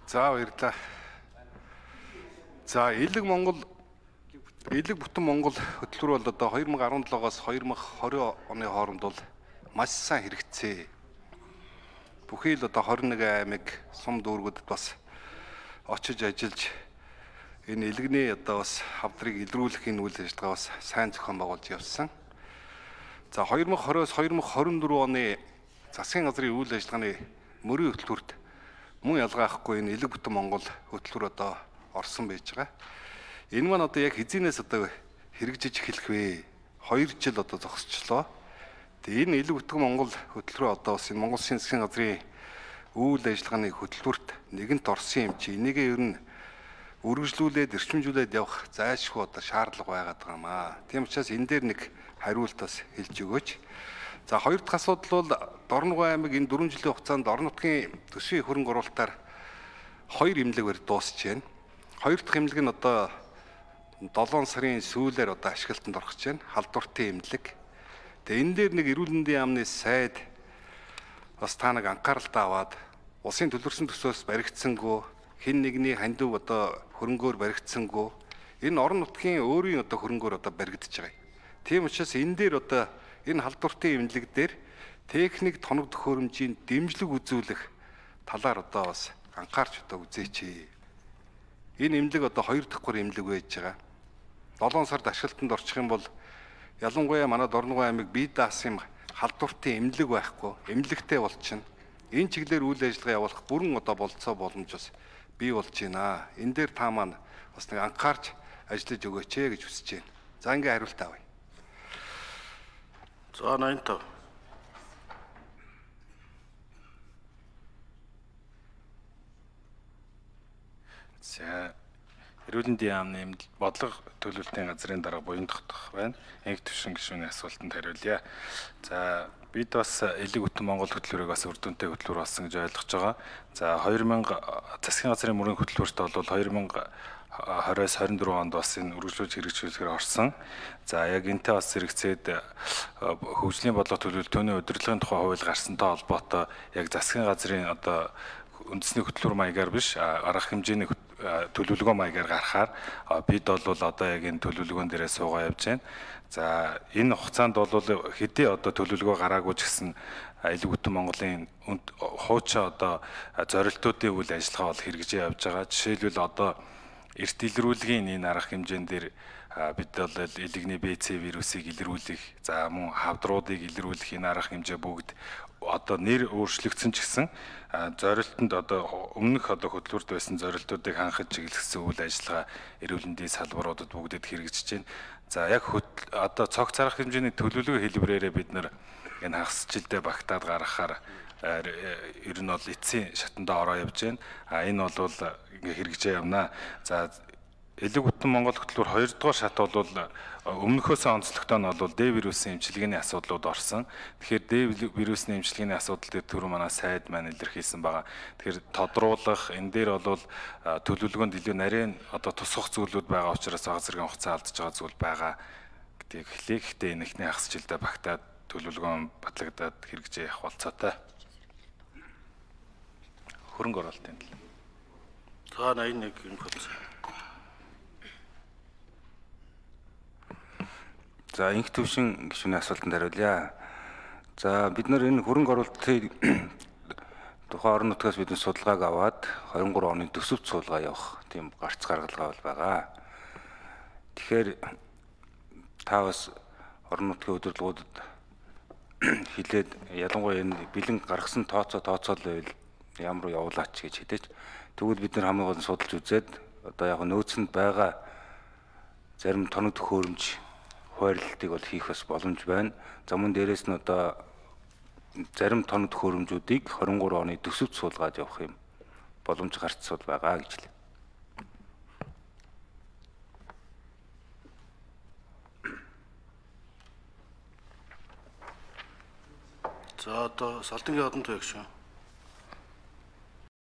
За баярлалаа. За Элэг бүтэн Монгол хөтөлбөр бол одоо 2017-оос 2020 оны хооронд бол маш сайн хэрэгжсэн. Бүхий л одоо 21 аймаг сум дүүргүүдэд бас очиж ажиллаж энэ элэгний одоо бас хавдрыг илрүүлэх энэ үйл ажиллагаа бас сайн зохион байгуулж явсан. За 2020-оос 2024 оны засгийн газрын үйл ажиллагааны мөрийн хөтөлбөрт мөн ялгаахгүй энэ Элэг бүтэн Монгол хөтөлбөр одоо орсон байж байгаа. Энэ маань одоо яг хизээс одоо хэрэгжиж эхэлэх вэ? 2 жил одоо зогсчлоо. Тэгээ энэ Элэг бүтэн Монгол хөтөлбөрөө одоо бас энэ Монгол Улсын засгийн газрын үйл ажиллагааны хөтөлбөрт нэгэнт орсон юм чи энийгээ ер нь үргэлжлүүлээд эрчимжүүлээд явах зайлшгүй одоо шаардлага байгаад байгаа юм аа. Тийм учраас энэ дээр нэг хариулт бас хэлж өгөөч. За хоёр дахь асуудал бол Дорногов аймаг энэ 4 жилийн хугацаанд орон нутгийн төсвийн хөрөнгө оруулалтаар 2 имлэг барь дуусч байна. Хоёр дахь имлэг нь одоо 7 сарын сүүлээр одоо ашиглалтанд орох гэж байна. Халдвартын имлэг. Тэгээ энэ дээр нэг эрүүл мэндийн яамны сайд бас та нэг анхааралтай аваад улсын төлөрсөн төсөөс баригдсангүй хэн нэгний хандив одоо хөрөнгөөр баригдсангүй энэ орон нутгийн өөрийн одоо хөрөнгөөр одоо баригдаж байгаа. Тийм учраас энэ дээр одоо энэ халдвартын имлэг дээр техник тоног төхөөрөмжийн дэмжлэг үзүүлэх талаар одоо бас анхаарч одоо үзээч. Энэ имлэг одоо 2 дахь гур имлэг байж байгаа. 7 сард ашиглалтанд орчих юм бол ялангуяа манай Дорногов аймаг бие даасан халдвартын имлэг байхгүй, имлэгтэй болчихно. Энэ чиглэлээр үйл ажиллагаа явуулах бүрэн одоо болцоо боломж бас бий болж байна. Энэ дээр та маань бас нэг анхаарч ажиллаж өгөөч гэж хүсэж байна. За ингээ хариулт авъя. За 85. За эрүүл мэндийн яамны бодлого төлөвлөлтийн газрын дарга буян тогтох байна. Энх төвшин гишүүний асуултанд хариулъя. За бид бас Элэг бүтэн Монгол хөтөлбөрийг бас үр дүнтэй хөтөлбөр болсон гэж ойлгож байгаа. За 2000 засгийн газрын мөрийн хөтөлбөрт бол 2020-24 онд бас энэ үргэлжлүүлж хэрэгжүүлэхээр орсон. За яг энтэй бас зэрэгцээд хөгжлийн бодлого төлөвлөлт төвний удирдлагын тухай хууль гарсантай холбоотой яг засгийн газрын одоо үндэсний хөтөлбөр маягаар биш арга хэмжээний төлөвлөгөө маягаар гарахаар бид бол одоо яг энэ төлөвлөгөөн дээрээ суугаа явж байна. За энэ хугацаанд бол хэдий одоо төлөвлөгөө гараагүй ч гэсэн Элэг бүтэн Монголын хуучин одоо зорилтуудын үйл ажиллагаа бол хэрэгжиж явж байгаа. Жишээлбэл одоо эрт илрүүлгийн энэ арга хэмжээн дээр бид бол элэгний БЦ вирусыг илрүүлэх, за мөн хавдруудыг илрүүлэх энэ арга хэмжээ бүгд одоо нэр өөрчлөгдсөн ч гэсэн зорилтонд одоо өмнөх одоо хөтөлбөрт байсан зорилтуудыг хангаж чиглэсэн үйл ажиллагаа эрүүл мэндийн салбаруудад бүгдэд хэрэгжиж байна. За яг одоо цогц арга хэмжээний төлөвлөгөө хэлбэрээрээ бид нар энэ хагасжилтээ багтаад гаргахаар ер нь бол эцсийн шатандаа ороо явж байна. Энэ бол ингээ хэрэгжээ явна. За Элэг бүтэн Монгол хөтөлбөр 2 дугаар шат бол өмнөхөөс онцлогтой нь бол Д вирусын эмчилгээний асуудлууд орсон. Тэгэхээр Д вирусын эмчилгээний асуудал дээр түрүү манай сайд маань илэрхийлсэн байгаа. Тэгэхээр тодруулах энэ дээр бол төлөвлөгөөнд илүү нарийн одоо тусгах зүйлүүд байгаа учраас бага зэргийн хугацаа алдж байгаа зүйл байгаа гэдгийг хэлье. Гэхдээ энэ ихний хагасжилтаа багтаад төлөвлөгөөн батлагдаад хэрэгжээ явах болцоотой. Хөрөнгө оруулалтын тал. За 81 юм бодсон. За энх төвшин гишүүний асуултанд хариулъя. За бид нар энэ хөрөнгө оруулалтын тухайн орон нутгаас бидний судалгааг аваад 23 оны төсөвт суулгаа явах тийм гарц гаргалгаа бол байгаа. Тэгэхээр та бас орон нутгийн удирдлагуудад хилээд ялангуяа энэ бэлэн гаргасан тооцоол байвал ямар явуулаач гэж хэдэж тэгвэл бид нар хамгийн гол нь судалж үзээд одоо яг нөөцөнд байгаа зарим тоног төхөөрөмж хуваарлтыг бол хийх бас боломж байна. За мөн дээрээс нь одоо зарим тоног төхөөрөмжүүдийг 23 оны төсөвт суулгаад явах юм боломж гарцсууд байгаа гэж хэлээ. За одоо Салтангийн одон туяг шүү.